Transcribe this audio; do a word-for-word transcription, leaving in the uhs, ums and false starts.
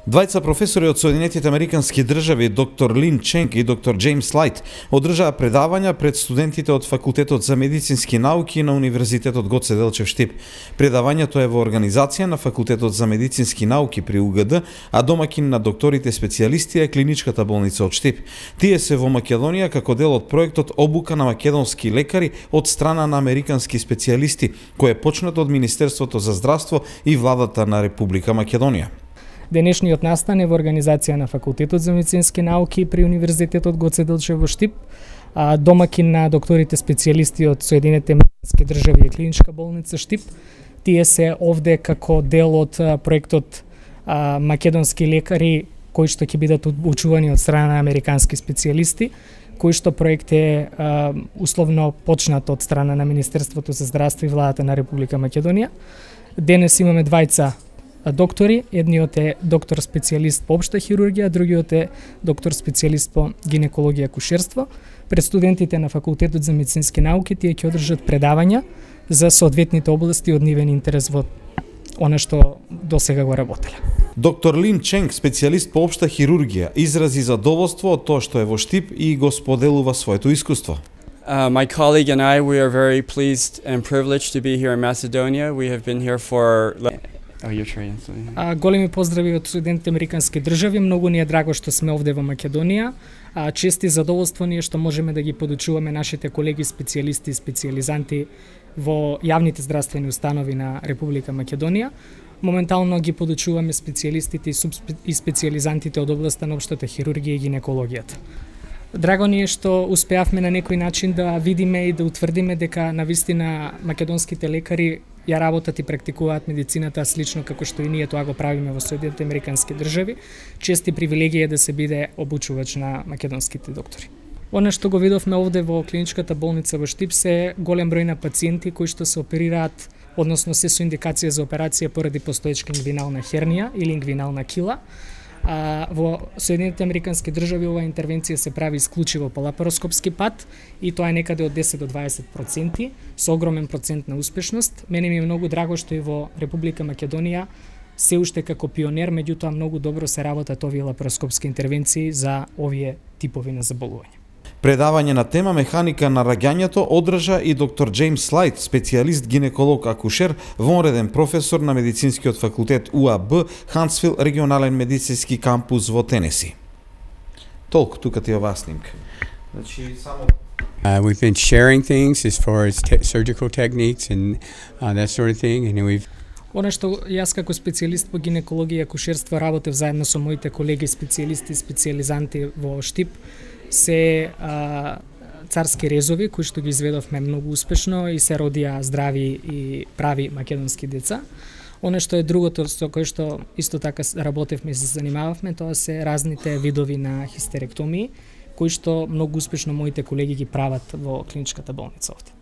Двајца професори од Соединетите Американски држави, доктор Лин Ченг и доктор Џејмс Лајт, одржаа предавања пред студентите од Факултетот за медицински науки на Универзитетот Гоце Делчев Штип. Предавањето е во организација на Факултетот за медицински науки при У Г Д, а домакин на докторите специјалисти е Клиничката болница од Штип. Тие се во Македонија како дел од проектот Обука на македонски лекари од страна на американски специјалисти, кој е почнат од Министерството за здравство и владата на Република Македонија. Денешниот настан е во организација на Факултетот за медицински науки при Универзитетот Гоце Делчев во Штип, домакин на докторите специјалисти од Соединетите Американски држави и Клиничка болница Штип. Тие се овде како дел од проектот Македонски лекари кои што ќе бидат обучувани од страна на американски специјалисти, кој што проект е а, условно почнат од страна на Министерството за здравство и владата на Република Македонија. Денес имаме двајца доктори, едниот е доктор специјалист по општа хирургија, другиот е доктор специјалист по гинекологија и акушерство. Пред студентите на Факултетот за медицински науки тие ќе одржат предавања за соодветните области од нивен интерес во она што досега го работеле. Доктор Лин Ченг, специјалист по општа хирургија, изрази задоволство од тоа што е во Штип и го споделува своето искуство. Uh, my colleague and I, we are very pleased and privileged to be here in Macedonia. We have been here for... Oh, you're trained. А, големи поздрави од Соединетите Американски држави. Многу ни е драго што сме овде во Македонија. А, чест и задоволство ни е што можеме да ги подучуваме нашите колеги специјалисти и специјализанти во јавните здравствени установи на Република Македонија. Моментално ги подучуваме специјалистите и специјализантите од областа на општата хирургија и гинекологијата. Драго ни е што успеавме на некој начин да видиме и да утврдиме дека навистина македонските лекари ја работат и практикуваат медицината слично како што и ние тоа го правиме во Соединетите Американски држави. Чест и привилегија да се биде обучувач на македонските доктори. Она што го видовме овде во Клиничката болница во Штип се голем број на пациенти кои што се оперираат, односно се со индикација за операција поради постоечка ингвинална хернија или ингвинална кила. А, во Соединетите Американски држави оваа интервенција се прави исклучиво по лапароскопски пат и тоа е некаде од десет до дваесет проценти со огромен процент на успешност. Мене ми е многу драго што и во Република Македонија се уште како пионер, меѓутоа многу добро се работат овие лапароскопски интервенции за овие типови на заболување. Предавање на тема механика на раѓањето одржа и доктор Џејмс Лајт, специјалист гинеколог акушер, вонреден професор на медицинскиот факултет У А Б, Хансвил, регионален медицински кампус во Тенеси. Толку тука ти оваа снимка. Значи само Uh, we've been sharing things as far as te surgical techniques and uh, that sort of thing, and we've Она што јас како специјалист по гинекологија и акушерство работев заедно со моите колеги специјалисти и специјализанти во Штип се а, царски резови кои што ги изведовме многу успешно и се родија здрави и прави македонски деца. Оно што е другото со кое што исто така работевме и се занимававме, тоа се разните видови на хистеректомии кои што многу успешно моите колеги ги прават во Клиничката болница овде.